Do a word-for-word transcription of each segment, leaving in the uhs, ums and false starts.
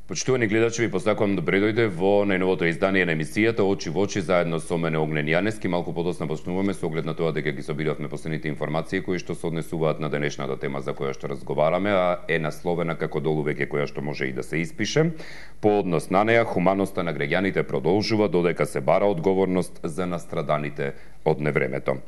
Почитувани гледачи, ви посакувам добре дојде во најновото издание на емисијата Очи во очи заедно со мене Огнен Јанески. Малку подоцна почнуваме со оглед на тоа дека ги собиравме последните информации кои што се однесуваат на денешната тема за која што разговараме, а е насловена како долу веќе која што може и да се испише. По однос на неа, хуманоста на граѓаните продолжува додека се бара одговорност за настраданите од невремето.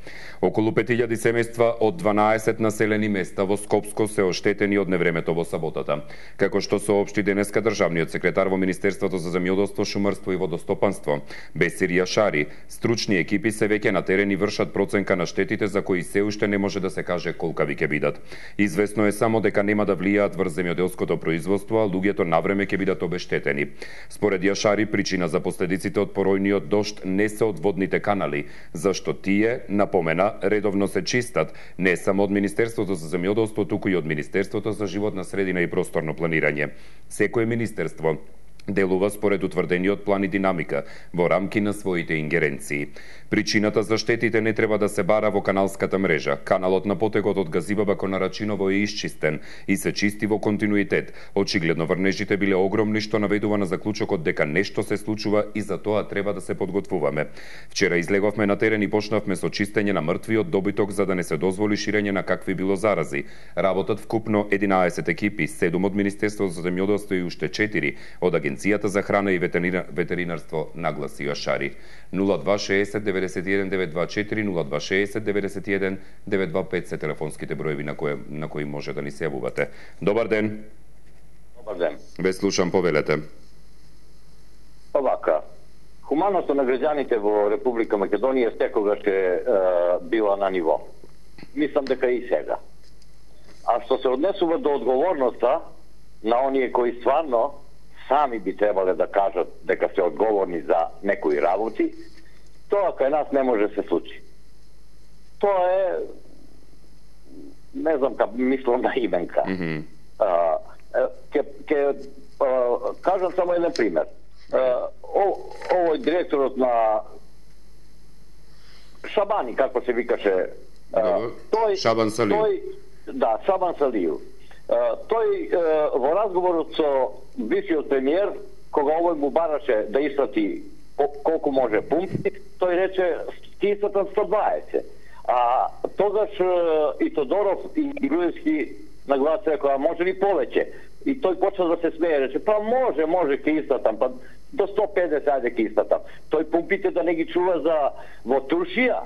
Околу пет илјади семејства од дванаесет населени места во Скопско се оштетени од невремето во саботата. Како што соопшти денеска државниот секретар во Министерството за земјоделство, шумарство и водостопанство, Бесир Јашари, стручни екипи се веќе на терен и вршат проценка на штетите за кои се уште не може да се каже колкави ќе бидат. Известно е само дека нема да влијаат врз земјоделското производство, а луѓето навреме ќе бидат обештетени. Според Јашари, причина за последиците од поројниот дожд не се од водните канали, зашто тие, напомена, редовно се чистат не само од Министерството за земјоделство, туку и од Министерството за животна средина и просторно планирање. Секој министерство делува според утврдениот план и динамика во рамки на своите ингеренции. Причината за штетите не треба да се бара во каналската мрежа. Каналот на потекот од Газибаба кон Нарачиново е исчистен и се чисти во континуитет. Очигледно врнежите биле огромни, што наведува на заклучокот дека нешто се случува и за тоа треба да се подготвуваме. Вчера излеговме на терен и почнавме со чистење на мртвиот добиток за да не се дозволи ширење на какви било зарази. Работат вкупно единаесет екипи, седум од Министерството за земјоделство и уште четири од Агенцијата за храна и ветеринарство, нагласи Јашари. нула два шеесет деветдесет и еден девет два четири, нула два шеесет деветдесет и еден девет два пет се телефонските броеви на кои, на кои може да ни се јавувате. Добар ден. Добар ден. Ве слушам, повелете. Овака, хуманоста на граѓаните во Република Македонија секогаш е, е била на ниво. Мислам дека и сега. А што се однесува до одговорноста на оние кои стварно сами би требале да кажат дека се одговорни за некои работи, тоа кај нас не може да се случи. Тоа е, не знам как мислам на именка. Mm -hmm. а, ке, ке а, кажам само еден пример. А, о, овој директорот на Шабани, како се викаше, а, тој, Шабан Салиу. Тој, да, Шабан Салиу. Uh, тој uh, во разговорот со бившиот премиер, кога овој му бараше да испрати колку може пумпи, тој рече ќе испратам сто дваесет. А тогаш uh, и Тодоров и Груевски нагласија дека може ли повеќе. И тој почна да се смее, рече па може, може ќе испратам, па до сто педесет ајде ќе испратам. Тој пумпите да не ги чува за во Туршија.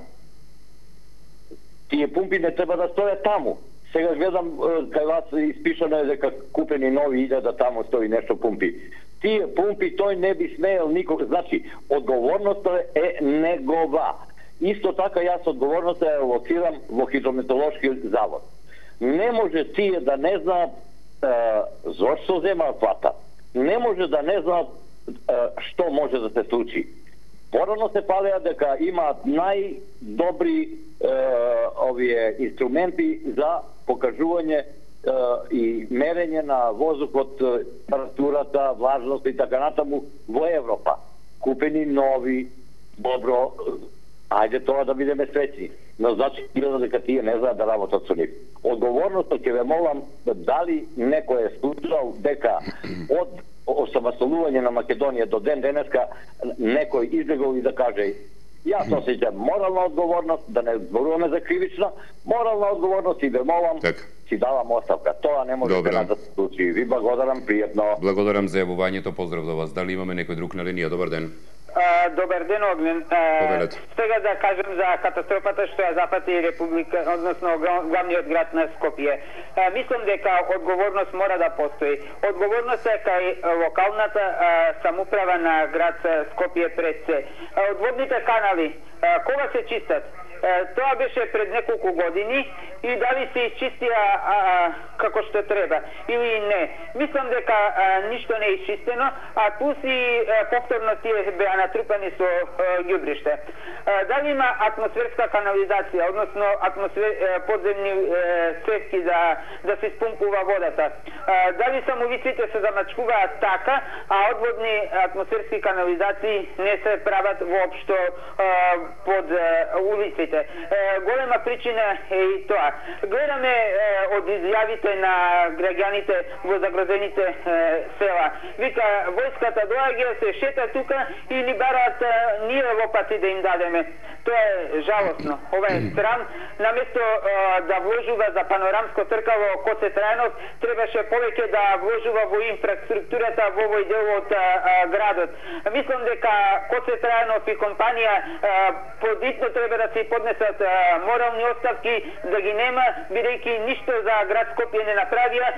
Тие пумпи не треба да стојат таму. Сега гледам кај вас испишано е дека купени нови илјада таму стои нешто пумпи. Тие пумпи тој не би смеел никога. Значи, одговорноста е негова. Исто така јас одговорноста е лоцирам во Хидрометеоролошки завод. Не може тие да не знаат е, зошто земаат плата. Не може да не знаат е, што може да се случи. Порано се палеа дека имаат најдобри е, овие инструменти за покажување е, и мерење на воздухот, температурата, влажност и така натаму во Европа. Купени нови, добро, ајде тоа да бидеме среќни. Но значи дека тие не знаат да работат со нив. Одговорноста ќе ве молам дали некој е случал дека од осамостојување на Македонија до ден денеска некој излегол и да каже јас осеќам морална одговорност, да не зборуваме за кривична, морална одговорност и ве молам, так. Си давам оставка. Тоа не може да се случи. Ви благодарам, пријатно. Благодарам за јавувањето, поздрав до вас. Дали имаме некој друг на линија? Добар ден. А, добар ден, Огнен. А, сега да кажем за катастрофата што ја запати Република, односно главниот град на Скопје. А, мислам дека одговорност мора да постои. Одговорност е кај локалната а, самуправа на град Скопје пред се. А, одводните канали, а, кога се чистат? Тоа беше пред неколку години и дали се изчистија а, како што треба или не. Мислам дека а, ништо не е изчистено, а плюс и а, повторно тие беа натрупани со ѓубриште. Дали има атмосферска канализација, односно атмосфер, а, подземни цевки да, да се спумпува водата. А, дали самовиците се замачкуваат така, а одводни атмосферски канализации не се прават воопшто а, под а, улици. Скопје. Голема причина е и тоа. Гледаме од изјавите на граѓаните во загрозените села. Вика, војската доаѓа, се шета тука и ни бараат ние лопати да им дадеме. Тоа е жалосно. Ова е срам. Наместо да вложува за панорамско тркало Коце Трајанов, требаше повеќе да вложува во инфраструктурата во овој дел од градот. Мислам дека Коце Трајанов и компанија подитно треба да се поднесат морални оставки, да ги нема, бидејќи ништо за град Скопје не направија,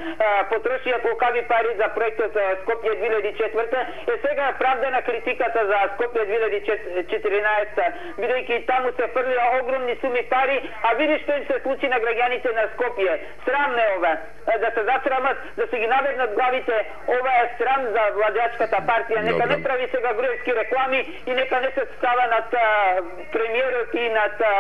потрошија колкави пари за проектот Скопје две илјади и четврта, е сега правдена критиката за Скопје две илјади и четиринаесетта, бидејќи таму се фрлија огромни суми пари, а види што им се случи на граѓаните на Скопје. Срамно е ова. Да се засрамат, да се ги навернат главите, ова е срам за владеачката партија. Нека Добре. Не прави сега груевски реклами и нека не се става над а, премиерот и над а,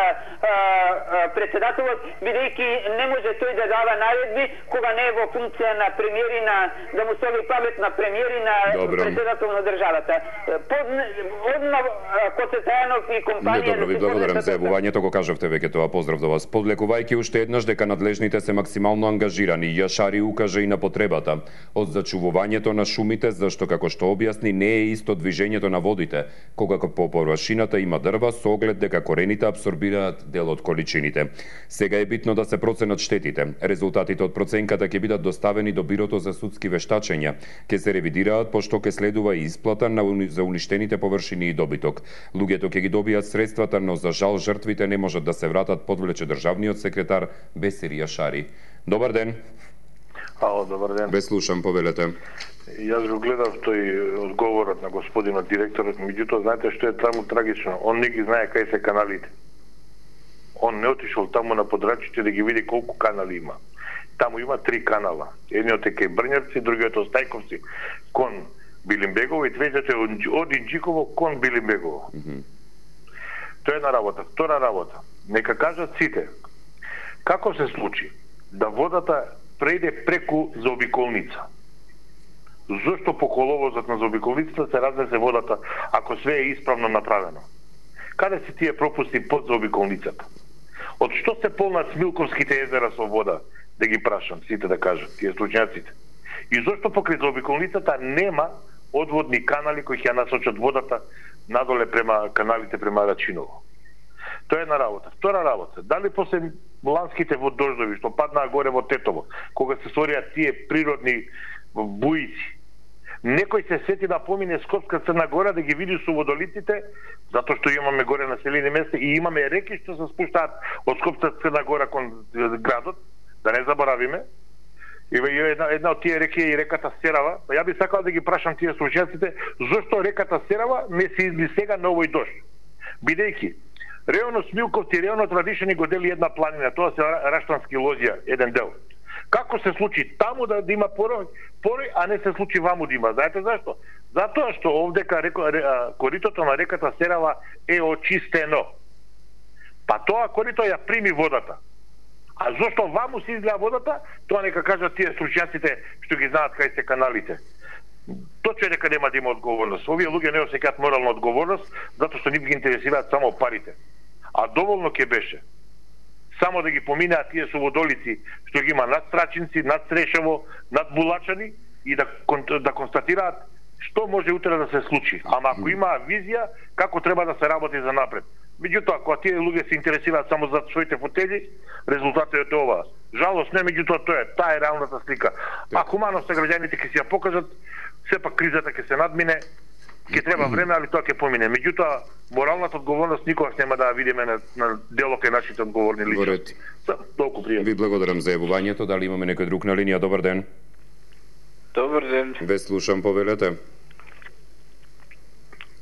а, председателот, бидејќи не може тој да дава наредби кога не е во функција на премиери, на да му соби памет на премиери на Добре. Председател на државата. Под одна Коце Трајанов и компанија. Добро, ви благодарам за јавувањето, го кажавте веќе тоа, поздрав до вас. Подлекувајќи уште еднаш дека надлежните се максимално ангажирани, Јашари укажа и на потребата од зачувувањето на шумите, зашто како што објасни не е исто движењето на водите, кога по површината има дрва со оглед дека корените абсорбираат дел од количините. Сега е битно да се проценат штетите. Резултатите од проценката ќе бидат доставени до Бирото за судски вештачења. Ќе се ревидираат пошто ќе следува и исплата на уни... за уништените површини и добиток. Луѓето ќе ги добијат средствата, но за жал жртвите не можат да се вратат, подвлече државниот секретар Бесир Јашари. Добар ден. Ало, добар ден. Ве слушам, повелете. Јас го гледав тој одговорот на господинот директорот, меѓутоа знаете што е таму трагично? Он не ги знае кај се каналите. Он не отишол таму на подрачите да ги види колку канали има. Таму има три канала. Едниот е кај Брњевци, другиот од Стајковци кон Билимбегово и третиот е од Инџиково кон Билимбегово. Mm -hmm. Тоа е една работа. Втора работа. Нека кажат сите како се случи да водата прејде преку заобиколница. Зошто по коловозот на заобиколницата се разнесе водата ако све е исправно направено? Каде се тие пропусти под заобиколницата? Од што се полнат Смилковските езера со вода? Да ги прашам, сите да кажат, тие случњаците. И зошто покрај заобиколницата нема одводни канали кои ќе насочат водата надоле према каналите према Рачиново? Тоа е една работа. Втора работа, дали после ланските водождови што паднаа горе во Тетово, кога се створија тие природни буици, некој се сети да помине Скопска Црна Гора да ги види суводолиците, затоа што имаме горе населени места и имаме реки што се спуштаат од Скопска Црна Гора кон градот, да не заборавиме. И една, една од тие реки е и реката Серава. Ја би сакал да ги прашам тие случајците зошто реката Серава не се изли сега на овој дожд. Бидејќи реонот Смилковци и реонот Радишани го дели една планина, тоа се Раштански лозија, еден дел. Како се случи таму да, да има порој, порој, а не се случи ваму да има? Знаете зашто? Затоа што овдека реко, коритото на реката Серава е очистено. Па тоа корито ја прими водата. А зошто ваму се излеа водата, тоа нека кажат тие стручњаците што ги знаат кај се каналите. Точно дека нема да има одговорност. Овие луѓе не осеќаат морална одговорност, затоа што нив ги интересираат само парите. А доволно ќе беше само да ги поминеат тие суводолици што ги има над Страчинци, над Срешево, над Булачани и да, да констатираат што може утре да се случи. Ама ако има визија, како треба да се работи за напред. Меѓутоа, кога тие луѓе се интересираат само за своите фотели, резултатот е ова. Жалост не, меѓутоа тоа е, таа е реалната слика. А хуманост граѓаните ќе си ја покажат, сепак кризата ќе се надмине, ќе треба време, али тоа ќе помине. Меѓутоа, моралната одговорност никогаш нема да ја видиме на, на дело кај нашите одговорни личности. Толку пријатно. Ви благодарам за јавувањето. Дали имаме некој друг на линија? Добар ден. Добар ден. Ве слушам, повелете.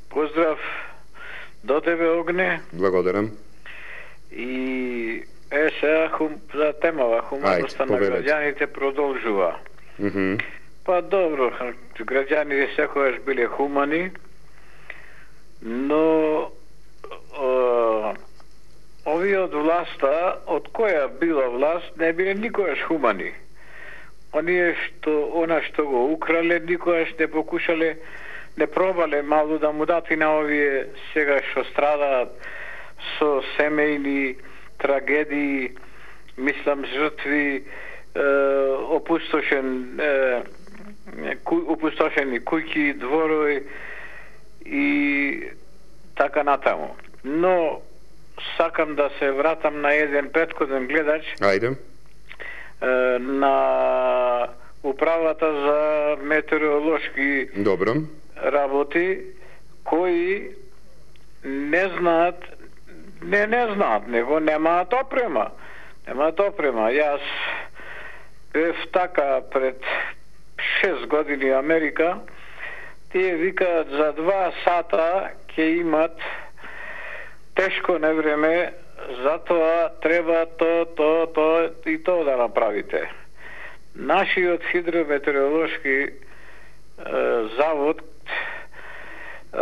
Поздрав до тебе, Огне. Благодарам. И е сега хум, за темава, хуманоста на граѓаните продолжува. Mm -hmm. Па добро, граѓаните секогаш биле хумани, но о, овие од власта, од која била власт, не биле никогаш хумани. Оние што, она што го украле, никогаш не покушале, не пробале мало да му дати на овие сега што страдаат со семејни трагедии, мислам жртви, опустошен ку, опустошени куќи, дворови и така натаму. Но сакам да се вратам на еден претходен гледач. Ајде. На управата за метеоролошки Добро. работи, кои не знаат, не не знаат, него немаат опрема. Немаат опрема. Јас бев така пред шест години Америка, тие викаат за два сата ќе имат тешко невреме, затоа треба то, то, то и то да направите. Нашиот хидрометеоролошки е, завод е,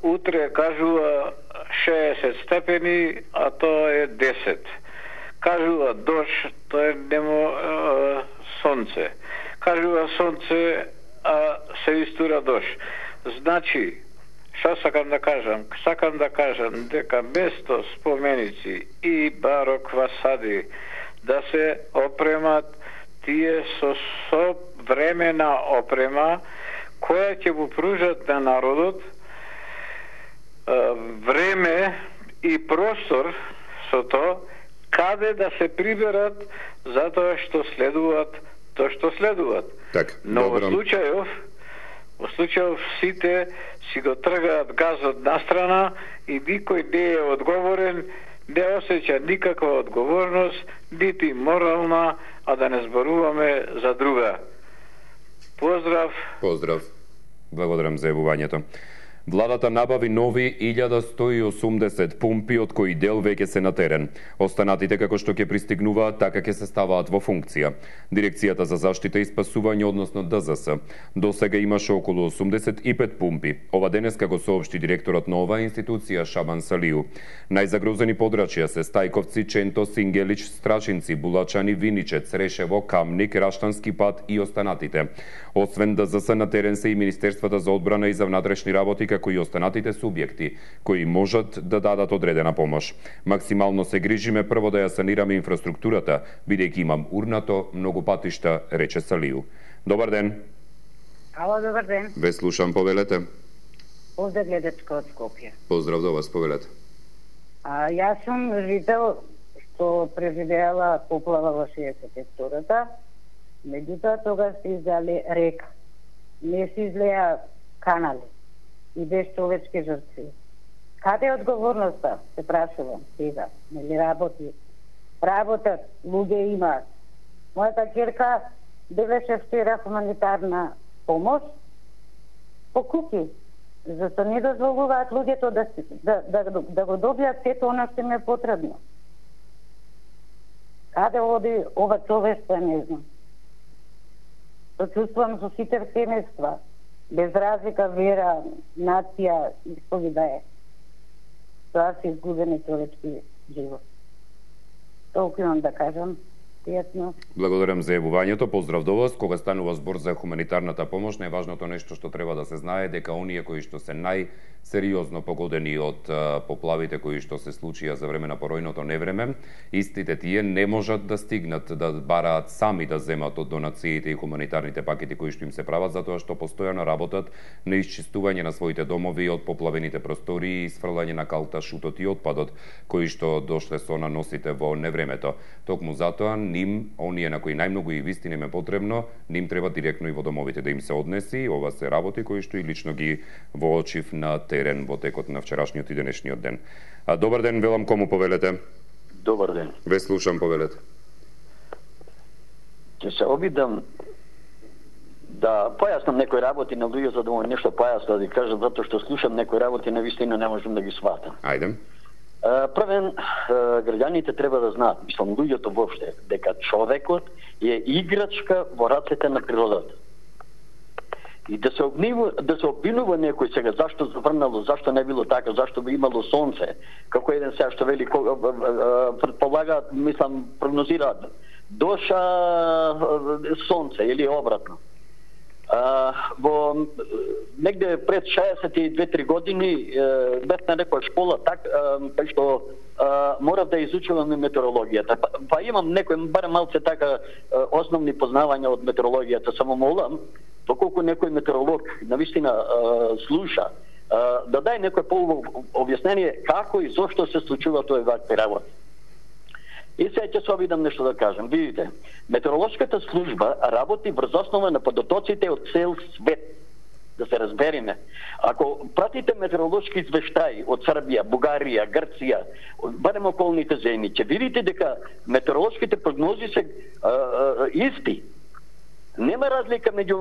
утре кажува шеесет степени, а тоа е десет. Кажува дожд, тоа е немо е, сонце. Кажува сонце, а се истура дожд. Значи, што сакам да кажам? Сакам да кажам дека место споменици и барок фасади да се опремат тие со современа опрема која ќе му пружат на народот време и простор со тоа каде да се приберат затоа што следуваат тоа што следуваат. Так, но во добро. случајов во случајов сите си го тргаат газот настрана и никој не е одговорен, не осеќа никаква одговорност, нити морална, а да не зборуваме за друга. Поздрав. Поздрав. Благодарам за јавувањето. Владата набави нови илјада сто и осумдесет пумпи, од кои дел веќе се на терен. Останатите како што ќе пристигнуваат, така ќе се ставаат во функција. Дирекцијата за заштита и спасување, односно Д Z S, до сега имаше околу осумдесет и пет пумпи. Ова денеска го соопшти директорот на оваа институција Шабан Салију. Најзагрозени подрачја се Стајковци, Ченто, Сингелич, Страчинци, Булачани, Виничец, Решево, Камник, Раштански пат и останатите. Освен Д Z S на терен се и Министерствата за одбрана и за внатрешни работи, како и останатите субјекти кои можат да дадат одредена помош. Максимално се грижиме прво да ја санираме инфраструктурата, бидејќи имам урнато многу патишта, рече Салију. Добар ден. Ало, добар ден. Ве слушам, повелете. Поздрав гледачка од Скопје. Поздрав до вас, повелете. А, јас сум жител што преживеала поплава во шеесет и втората. Меѓутоа тогаш се излеа река. Не се излеа канали и без човечки жртви. Каде е одговорноста, се прашувам сега, нели работи? Работат, луѓе имаат. Мојата ќерка делеше вчера хуманитарна помош по куки. Зашто не дозволуваат луѓето да, да, да, да го добијат сето оно што им е потребно. Каде оди ова човештво, не знам. Се чувствувам со сите семејства, без разлика вера, нација, исповеда е. Тоа се изгубени човечки живот. Толку имам да кажам. Пријатно. Благодарам за јавувањето. Поздрав до вас. Кога станува збор за хуманитарната помош, најважното нешто што треба да се знае дека оние кои што се најсериозно погодени од поплавите кои што се случија за време на поројното невреме, истите тие не можат да стигнат да бараат сами да земат од донациите и хуманитарните пакети кои што им се прават, затоа што постојано работат на исчистување на своите домови од поплавените простории и сфрлање на калта, шутот и отпадот кои што дошле со наносите во невремето. Токму затоа ним, оние на кои најмногу и вистина им е потребно, ним треба директно и во домовите да им се однеси. Ова се работи кои што и лично ги воочив на терен во текот на вчерашниот и денешниот ден. А, добар ден, велам, кому повелете? Добар ден. Ве слушам, повелете. Ќе се обидам да појаснам некои работи на луѓе за да му нешто појасно да ги кажам, затоа што слушам некои работи на вистина не можам да ги сватам. Ајде. Првен, граѓаните треба да знаат, мислам луѓето воопште, дека човекот е играчка во рацете на природата. И да се обвинува, да се обвинува некој сега зашто заврнало, зашто не било така, зашто би имало сонце, како еден сега што вели предполагаат, мислам прогнозираат доша сонце или обратно. А, во негде пред шеесет и две-три години бев на некоја школа так кај што а, морав да изучувам метеорологијата. Па, па имам некој барем малце така основни познавања од метеорологијата. Само молам, поколку некој метеоролог навистина слуша, а, да дај некој полно објаснение како и зошто се случува тоа вакви работи. И сега ќе се обидам нешто да кажам. Видите, метеоролошката служба работи врз основа на подотоците од цел свет. Да се разбериме. Ако пратите метеоролошки извештаи од Србија, Бугарија, Грција, барем околните земји, ќе видите дека метеоролошките прогнози се а, а, исти. Нема разлика меѓу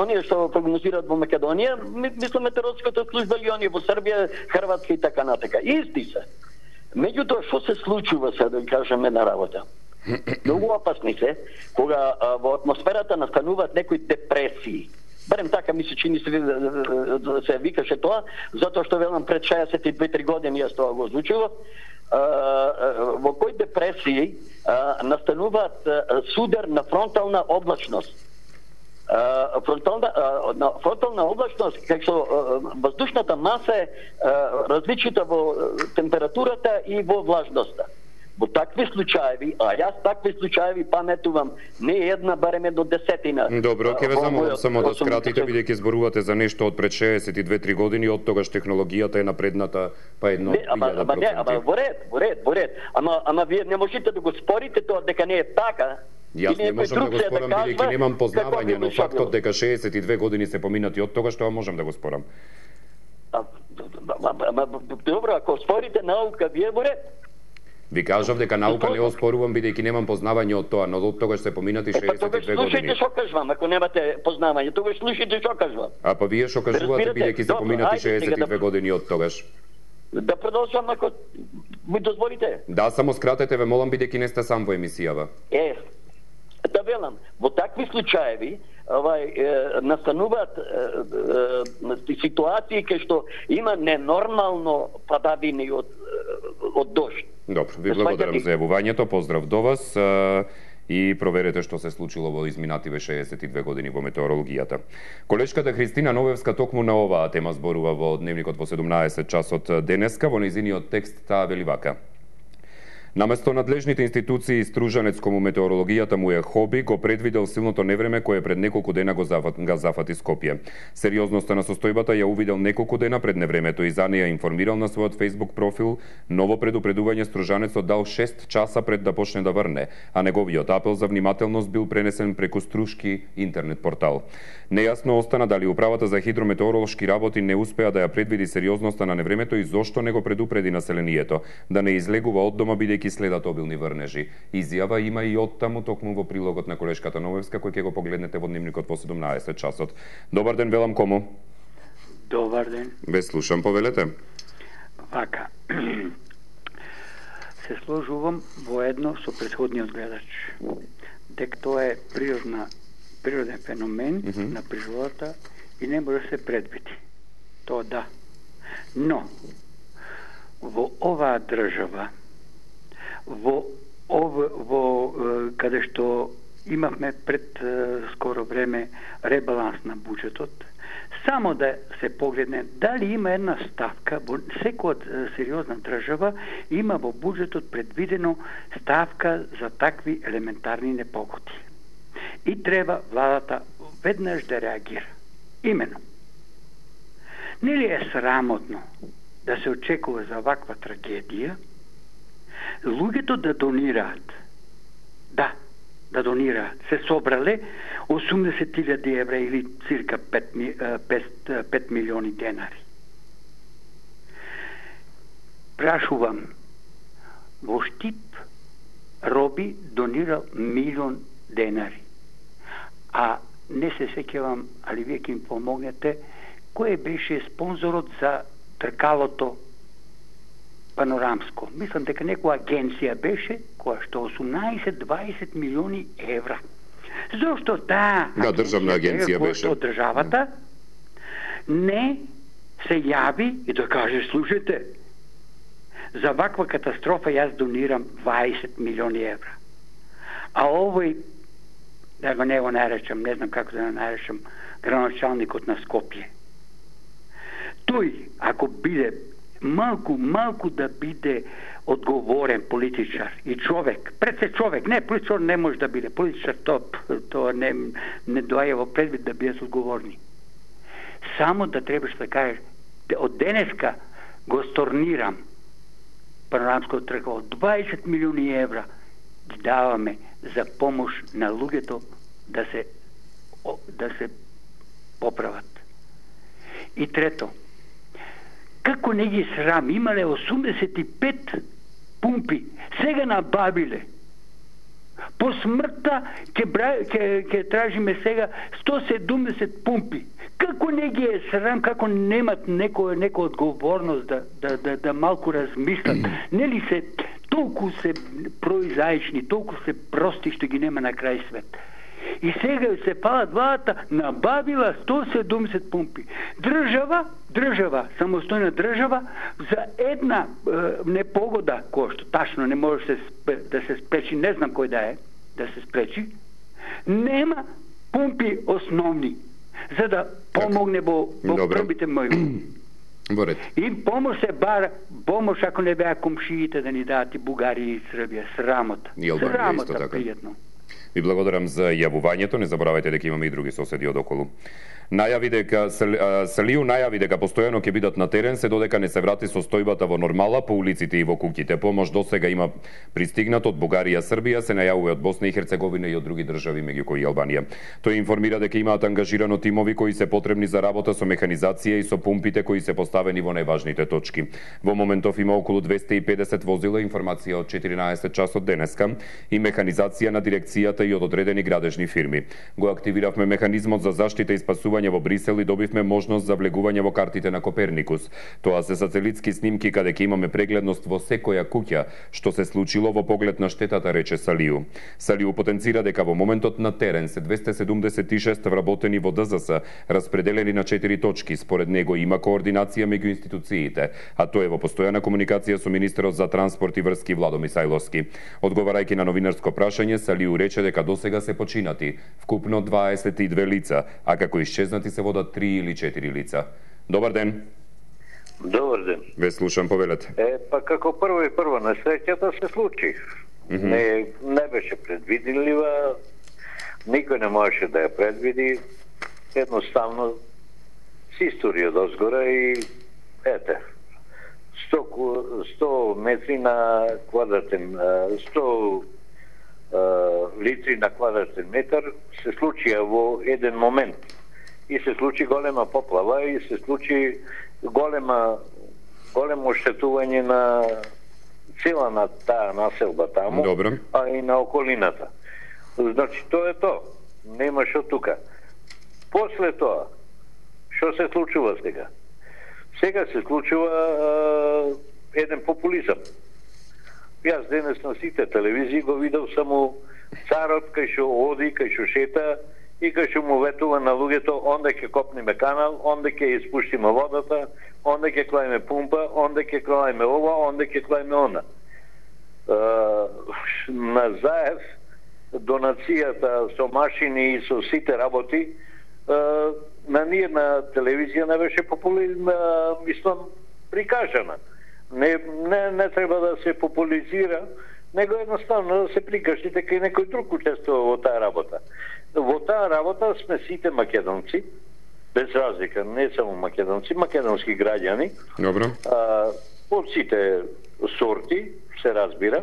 оние што прогнозираат во Македонија, мислам метеоролошката служба или оние во Србија, Хрватска и така натака. Исти се. Меѓутоа, што се случува сега, да кажеме, една работа? Многу опасни се, кога а, во атмосферата настануваат некои депресии. Барем така ми се чини се, се викаше тоа, затоа што велам пред шеесет и две-три години јас тоа го озвучував, во кои депресии а, настануваат а, судар на фронтална облачност. Uh, фронтална, uh, на фронтална облачност, како што uh, воздушната маса е uh, различита во uh, температурата и во влажноста. Во такви случаеви, а јас такви случаеви паметувам не една, барем до десетина. Добро, ќе ве замолам само да скратите, бидејќи зборувате за нешто од пред шеесет и две-три години, од тогаш технологијата е напредната па едно илјада проценти. Не, ама во ред, во ред, во ред. Ама, ама вие не можете да го спорите тоа дека не е така. Јас не можам да го спорам, бидејќи немам познавање, но фактот дека шеесет и две години се поминати од тогаш, тоа можам да го спорам. Добро, ако спорите наука, вие во ред. Ви кажав дека наука не оспорувам, бидејќи немам познавање од тоа, но од тогаш се поминати шеесет и две години. Слушајте што кажувам, ако немате познавање, тогаш слушајте што кажувам. А па вие што кажувате, бидејќи се поминати шеесет и две години од тогаш? Да продолжам ако ми дозволите. Да, само скратете, ве молам, бидејќи не сте сам во емисијава. Е, да велам, во такви случаеви овај е, настануваат е, е, ситуации кај што има ненормално падавини од од дожд. Добро, ви благодарам за јавувањето, поздрав до вас а, и проверете што се случило во изминативе шеесет и две години во метеорологијата. Колешката Христина Новевска токму на оваа тема зборува во Дневникот во седумнаесет часот денеска, во нејзиниот текст таа вели вака. Наместо надлежните институции, стружанец кому метеорологијата му е хоби, го предвидел силното невреме кое пред неколку дена го зафат, га зафати Скопје. Сериозноста на состојбата ја увидел неколку дена пред невремето и за неја информирал на својот Facebook профил. Ново предупредување стружанецот дал шест часа пред да почне да врне, а неговиот апел за внимателност бил пренесен преку Струшки интернет портал. Нејасно остана дали управата за хидрометеоролошки работи не успеа да ја предвиди сериозноста на невремето и зошто не го предупреди населението да не излегува од дома бидејќи следат обилни врнежи. Изјава има и од таму токму во прилогот на колешката Новевска, кој ќе го погледнете во Дневникот во седумнаесет часот. Добар ден, велам кому? Добар ден. Ве слушам, повелете. Вака. Се сложувам во едно со претходниот гледач. Дека тоа е природна, природен феномен mm -hmm. на природата и не може да се предвиди. Тоа да. Но, во оваа држава, во, ов, во каде што имавме пред скоро време ребаланс на буџетот, само да се погледне дали има една ставка, во секоја од сериозна држава има во буџетот предвидено ставка за такви елементарни непогоди. И треба владата веднаш да реагира. Имено. Нели е срамотно да се очекува за ваква трагедија луѓето да донираат? Да, да донираат. Се собрале осумдесет илјади евра или цирка пет милиони денари. Прашувам, во Штип Роби донирал милион денари. А не се сеќавам, али вие ќе им помогнете, кој беше спонзорот за тркалото панорамско. Мислам дека некоја агенција беше која што осумнаесет-дваесет милиони евра. Зошто таа да, државна агенција беше од државата не се јави и да каже, слушайте, за ваква катастрофа јас донирам дваесет милиони евра. А овој да го не го наречам, не знам како да го наречам, градоначалникот на Скопје. Тој, ако биде малку, малку да биде одговорен политичар и човек, пред се човек, не, политичар не може да биде, политичар то, то не, не доаја во предвид да биде одговорни. Само да требаш да кажеш, од денеска го сторнирам панорамското тргало, дваесет милиони евра ги даваме за помош на луѓето да се да се поправат. И трето, како не ги срам, имале осумдесет и пет пумпи, сега набавиле. По смртта ќе ќе ќе тражиме сега сто седумдесет пумпи. Како не ги е срам, како немат некоја некоја одговорност да да да да малку размислат. Нели се толку се произаични, толку се прости што ги нема на крај свет. И сега се палат вата, набавила сто седумдесет пумпи. Држава, држава, самостојна држава, за една е, непогода, која што тачно не може се, да се спречи, не знам кој да е, да се спречи, нема пумпи основни, за да помогне во, во првите моји. И помош се бара, помош ако не беа комшиите да ни дадат и Бугарија и Србија, срамота. И Албанија срамота, исто така. пријатно. Ви благодарам за јавувањето, не заборавајте дека имаме и други соседи одоколу. Најави дека Салиу најави дека постојано ќе бидат на терен се додека не се врати состојбата во нормала по улиците и во куќите. Помош досега има пристигнат од Бугарија, Србија, се најавува од Босна и Херцеговина и од други држави меѓу кои и Албанија. Тој информира дека имаат ангажирано тимови кои се потребни за работа со механизација и со пумпите кои се поставени во најважните точки. Во моментов има околу двесте и педесет возила, информација од четиринаесет часот денеска, и механизација на дирекцијата и од одредени градежни фирми. Го активиравме механизмот за заштита и спасување во Брисел и добивме можност за влегување во картите на Коперникус. Тоа се сателитски снимки каде ќе имаме прегледност во секоја куќа што се случило во поглед на штетата, рече Салиу. Салиу потенцира дека во моментот на терен се двесте седумдесет и шест вработени во Д Z С, распределени на четири точки. Според него има координација меѓу институциите, а тој е во постојана комуникација со министерот за транспорт и врски Владо Мисајловски. Одговарајќи на новинарско прашање, Салиу рече дека досега се починати вкупно дваесет и две лица, а како исчезнати се водат три или четири лица. Добар ден. Добар ден. Ве слушам, повелете. Е, па како прво и прво несреќата се случи. Mm -hmm. Не не беше предвидлива, никој не можеше да ја предвиди. Едноставно с историја дозгора и ете. сто метри на квадратен, сто литри на квадратен метар се случија во еден момент. И се случи голема поплава и се случи голема големо оштетување на цела на таа населба таму, Добре. а и на околината. Значи, тоа е тоа. Нема шо тука. После тоа, што се случува сега? Сега се случува е, еден популизам. Јас денес на сите телевизии го видел само царот кај што оди, кај што шета и кај што му ветува на луѓето, онде ќе копниме канал, онде ќе испуштиме водата, онде ќе клајме пумпа, онде ќе клајме ова, онде ќе клајме она. Е, на Заев донацијата со машини и со сите работи, е, на ние на телевизија не беше популизм, мислам, прикажана. Не, не, не треба да се популизира, него едноставно да се прикажи дека и некој друг учествува во таа работа. Во таа работа сме сите македонци, без разлика, не само македонци, македонски граѓани. Добро. А, од сите сорти, се разбира.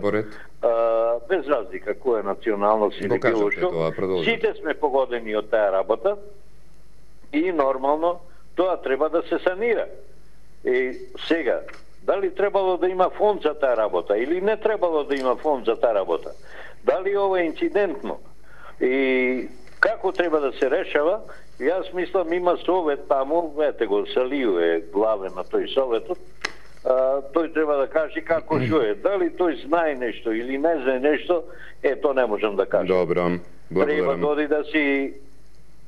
А, без разлика која националност или било што. Сите сме погодени од таа работа и нормално тоа треба да се санира. И сега, дали требало да има фонд за таа работа или не требало да има фонд за таа работа? Дали ова е инцидентно? И како треба да се решава? Јас мислам има совет таму, ете го, Салиу е главен на тој советот, а, тој треба да каже како што е. Дали тој знае нешто или не знае нешто, е, тоа не можам да кажам. Добро, благодарам. Треба доди да си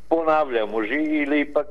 понавља може или пак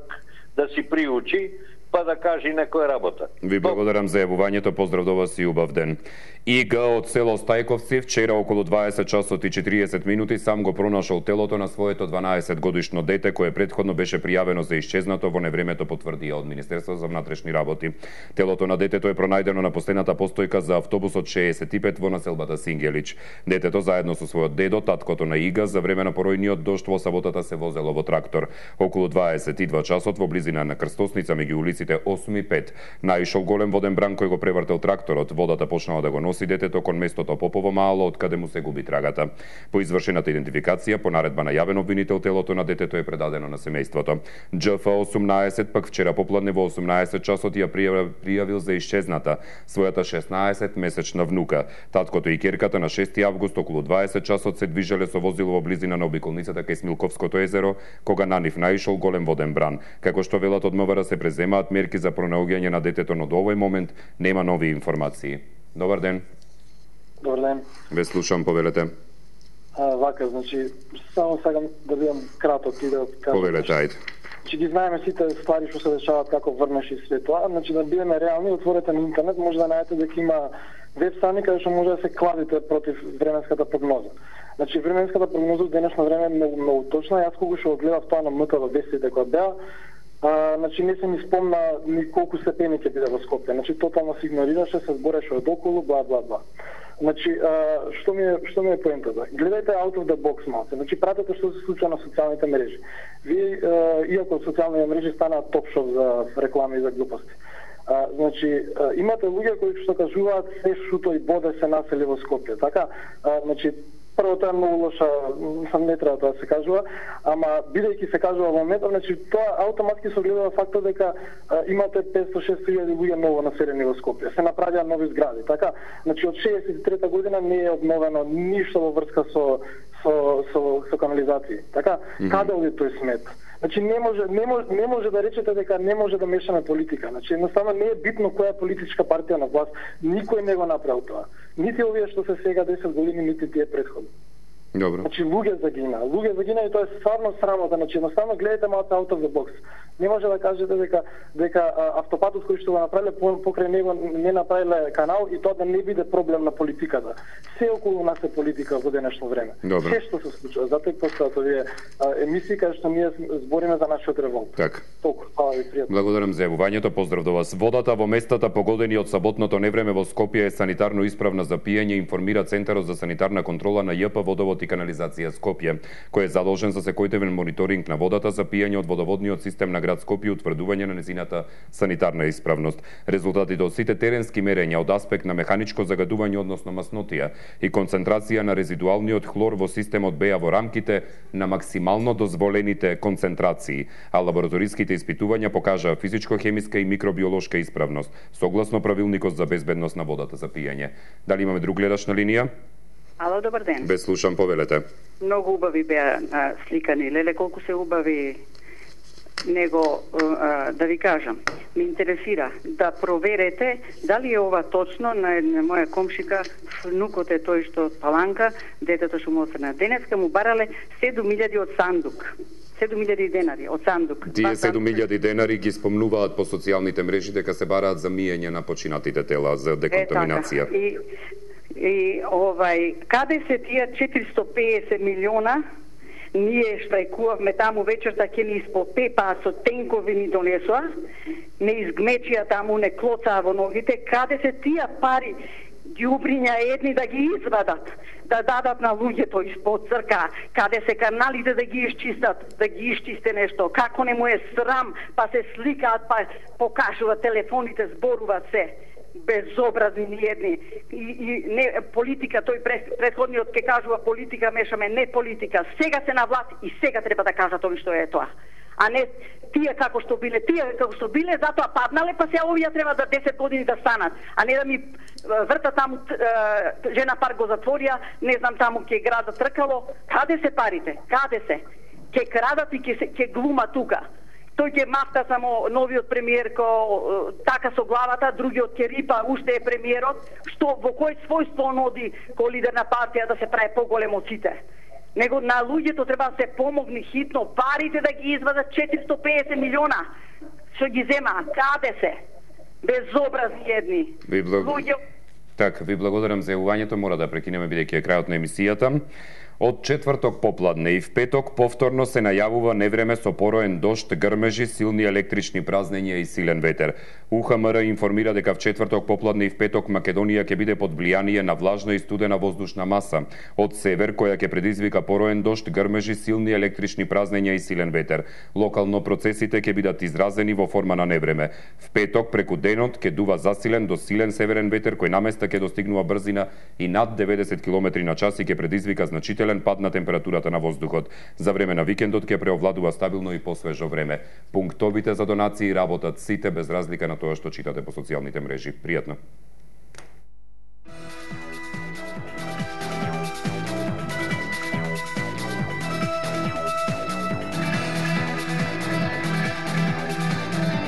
да си приучи па да кажи некоја работа. Ви благодарам за јавувањето, поздрав до вас и убав ден. Ига од село Стајковци вчера околу дваесет часот и четириесет минути сам го пронашол телото на своето дванаесет годишно дете кое претходно беше пријавено за исчезнато во невремето, потврдија од Министерството за внатрешни работи. Телото на детето е пронајдено на последната постојка за автобусот шеесет и пет во населбата Сингелич. Детето заедно со својот дедо, таткото на Ига, за време на поројниот дожд во саботата се возело во трактор. Околу дваесет и два часот во близина на крстосница меѓу улиците осум и пет наишол голем воден бран кој го превртел тракторот. Водата почнала да го носи детето кон местото Попово мало, од каде му се губи трагата. По извршената идентификација, по наредба на јавен обвинител, телото на детето е предадено на семејството. Џ Ф осумнаесет пак вчера попладне во осумнаесет часот ја пријавил за исчезната својата шеснаесет месечна внука. Таткото и ќерката на шести август околу дваесет часот се движеле со возило во близина на обиколницата кај Смилковското езеро, кога на нив наишол голем воден бран. Како што велат од МВР се преземаат мерки за пронаоѓање на детето, но до овој момент нема нови информации. Добар ден. Добар ден. Ве слушам, повелете. А, вака, значи, само сакам да бидам краток и да кажам. Повелете, ајде. Че ги знаеме сите ствари што се дешаваат како врнеш и све тоа, значи да бидеме реални, отворете на интернет, може да најдете дека има веб страни каде што може да се кладите против временската прогноза. Значи временската прогноза во денешно време е многу, многу точна. Јас кога што гледав тоа на М Т В вестите кои беа, А, значи не се ми спомна ни колку степени ќе биде во Скопје. Значи тотално се игнорираше, се збореше од околу, бла бла бла. Значи а, што ми е што ми е поентата? Гледајте out of the box малку. Значи пратете што се случува на социјалните мрежи. Вие а, иако социјалните мрежи станаат топ-шоп за реклами и за глупости. А, значи а, имате луѓе кои што кажуваат се шуто и боде се насели во Скопје. Така, а, значи прво тоа е многу лоша, сам не треба тоа да се кажува, ама бидејќи се кажува во моментот, значи тоа автоматски се огледува фактот дека а, имате петстотини до шестстотини илјади луѓе ново населени во Скопје. Се направија нови згради, така? Значи од шеесет и трета година не е обновено ништо во врска со со со, со канализација. Така? Mm-hmm. Каде оди тој смет? Значи не може не може не може да речете дека не може да мешаме политика. Значи едноставно не е битно која политичка партија на власт. Никој не го направил тоа. Нити овие што се сега десет години, нити тие претходни. Добро. Значи луѓе загина, луѓе загина и тоа е стварно срамота. Значи едноставно гледате малку out of the box. Не може да кажете дека дека а, автопатот кој што го направиле покрај него не направиле канал и тоа да не биде проблем на политиката. Се околу нас е политика во денешно време. Добро. Се што се случува, затоа и постојат овие емисии каде што ние збориме за нашиот револт. Така. Толку, фала ви, пријатно. Благодарам за јавувањето, поздрав до вас. Водата во местата погодени од саботното невреме во Скопје е санитарно исправна за пиење, информира Центарот за санитарна контрола на Ј П Водовод и канализација Скопје, кој е задолжен за секојдневен мониторинг на водата за пиење од водоводниот систем на град Скопје и утврдување на незината санитарна исправност. Резултатите од сите теренски мерења од аспект на механичко загадување, односно маснотија и концентрација на резидуалниот хлор во системот беа во рамките на максимално дозволените концентрации, а лабораториските испитувања покажаа физичко-хемиска и микробиолошка исправност, согласно правилникот за безбедност на водата за пиење. Дали имаме друг гледач на линија? Ало, добар ден. Без слушам, повелете. Многу убави беа а, сликани. Леле, колку се убави него, а, да ви кажам. Ме интересира да проверете дали е ова точно на една моја комшика, внукот е тој што од Паланка, детето што му осрна. Денеска му барале седум илјади од сандук. седум илјади денари од сандук. Тие седум илјади денари ги спомнуваат по социјалните мрежи дека се бараат за миење на починатите тела, за деконтаминација. Е, така. И И овај, каде се тие четиристо пеесет милиона? Ние штрајкувавме таму вечерта, ќе ни испопепаа со тенкови ни донесоа, не изгмечија таму, не клоцаа во ногите. Каде се тие пари? Ѓубриња едни да ги извадат, да дадат на луѓето испод црка, каде се каналите да ги исчистат, да ги исчисте нешто. Како не му е срам, па се сликаат, па покажуваат телефоните, зборуваат се. Безобразни ни едни. И, и не политика, тој претходниот ке кажува политика, мешаме, не политика. Сега се на власт и сега треба да кажат ови што е тоа. А не тие како што биле, тие како што биле, затоа паднале, па се овие треба да десет години да станат. А не да ми врта таму жена пар го затворија, не знам таму ке града тркало. Каде се парите? Каде се? Ке крадат и ке, ке глума тука. Тој ќе мафта само новиот премиер ко така со главата, другиот ќе рипа, уште е премиерот, што во кој својство он оди ко лидер на партија да се прави поголем од сите. Него на луѓето треба да се помогне хитно, парите да ги извадат четиристо пеесет милиона. што ги зема, каде се? Безобразни едни. Ви благ... Луѓе... Так, ви благодарам за јавувањето, мора да прекинеме бидејќи е крајот на емисијата. Од четврток попладне и в петок повторно се најавува невреме со пороен дожд, грмежи, силни електрични празнења и силен ветер. У Х М Р информира дека в четврток попладне и в петок Македонија ќе биде под влијание на влажна и студена воздушна маса од север, која ќе предизвика пороен дожд, грмежи, силни електрични празнења и силен ветер. Локално процесите ќе бидат изразени во форма на невреме. В петок преку денот ќе дува засилен до силен северен ветер кој наместа ќе достигнува брзина и над деветдесет километри на час и ќе предизвика значителен пад на температурата на воздухот. За време на викендот ќе преовладува стабилно и посвежо време. Пунктовите за донации работат сите без разлика на тоа што читате по социјалните мрежи. Пријатно.